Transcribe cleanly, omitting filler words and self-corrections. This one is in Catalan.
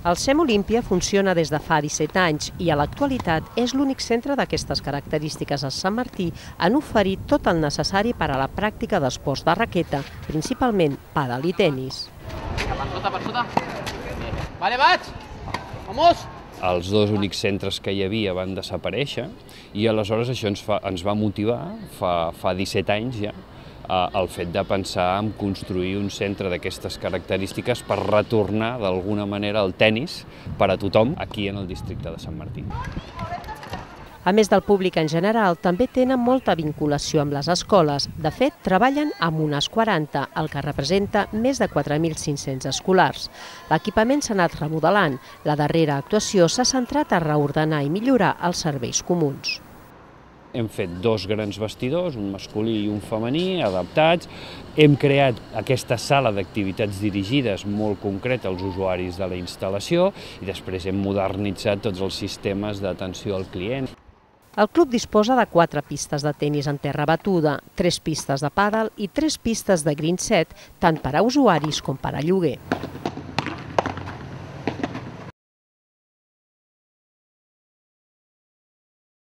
El SEM Olímpia funciona des de fa 17 anys i a l'actualitat és l'únic centre d'aquestes característiques a Sant Martí en oferir tot el necessari per a la pràctica d'esports de raqueta, principalment pàdel i tenis. Per sota. Vale, vaig! Vamos! Els dos únics centres que hi havia van desaparèixer i aleshores això ens va motivar, fa 17 anys ja, el fet de pensar en construir un centre d'aquestes característiques per retornar d'alguna manera el tenis per a tothom aquí en el districte de Sant Martí. A més del públic en general, també tenen molta vinculació amb les escoles. De fet, treballen amb unes 40, el que representa més de 4.500 escolars. L'equipament s'ha anat remodelant. La darrera actuació s'ha centrat a reordenar i millorar els serveis comuns. Hem fet dos grans vestidors, un masculí i un femení, adaptats. Hem creat aquesta sala d'activitats dirigides molt concreta als usuaris de la instal·lació i després hem modernitzat tots els sistemes d'atenció al client. El club disposa de 4 pistes de tenis en terra batuda, 3 pistes de pàdel i 3 pistes de green set, tant per a usuaris com per a lloguer.